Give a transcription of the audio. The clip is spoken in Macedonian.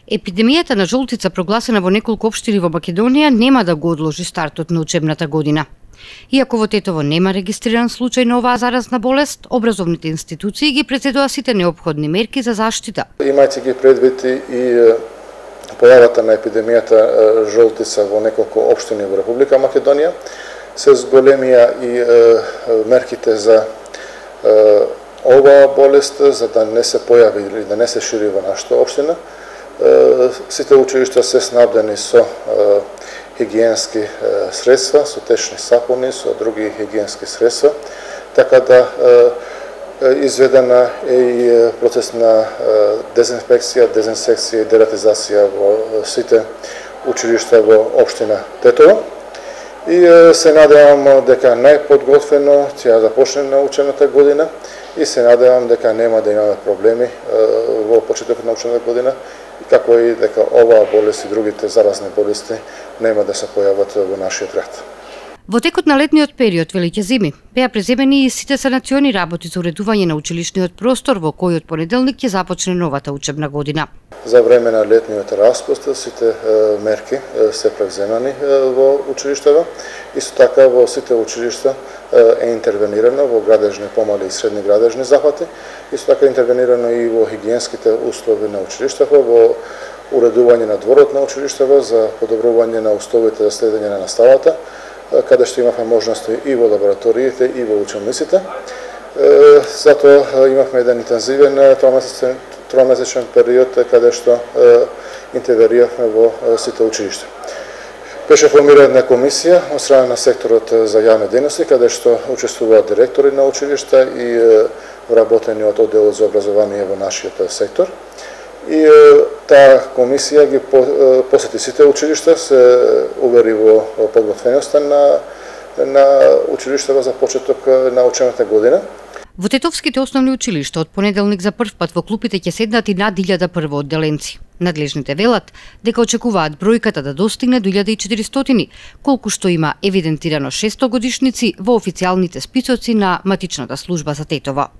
Епидемијата на жолтица прогласена во неколку општини во Македонија нема да го одложи стартот на учебната година. Иако во Тетово нема регистриран случај на оваа заразна болест, образовните институции ги предвидува сите неопходни мерки за заштита. Имајќи ги предвид и појавата на епидемијата жолтица во неколку општини во Република Македонија, се зголемија и мерките за оваа болест, за да не се појави или да не се шири во нашата општина. Сите училишта се снабдени со хигиенски средства, со течни сапуни, со други хигиенски средства, така да изведена е и процес на дезинфекција, дезинсекција и дератизација во сите училишта во општина Тетово. И се надевам дека најподготвено ќе започне на учебната година и се надевам дека нема да имаме проблеми во почетокот на учебната година, како и дека оваа болест и другите заразни болести нема да се појават во нашиот град. Во текот на летниот период, велиќе зими, беа преземени и сите санациони работи за уредување на училишниот простор во кој од понеделник ќе започне новата учебна година. За време на летниот распуст сите мерки се превземани во училиштата. Исто така во сите училишта е интервенирано во градежни, помали и средни градежни захвати. Исто така интервенирано и во хигиенските услови на училиштата, во уредување на дворот на училиштата за подобрување на условите за следење на наставата, каде што имавме можности и во лабораториите и во училниците. Затоа имавме еден интензивен тромесечен период каде што интервениравме во сите училишта. Беше формирана комисија од страна на секторот за јавни дејности, каде што учествуваат директори на училишта и вработениот оддел за образование во нашиот сектор. И таа комисија ги посети сите училишта, се увери во подготвеноста на училиштата за почеток на учебната година. Во тетовските основни училишта од понеделник за прв пат во клупите ќе седнат и над 1000 првоодделенци. Надлежните велат дека очекуваат бројката да достигне до 1400, колку што има евидентирано 600 годишници во официјалните списоци на матичната служба за Тетово.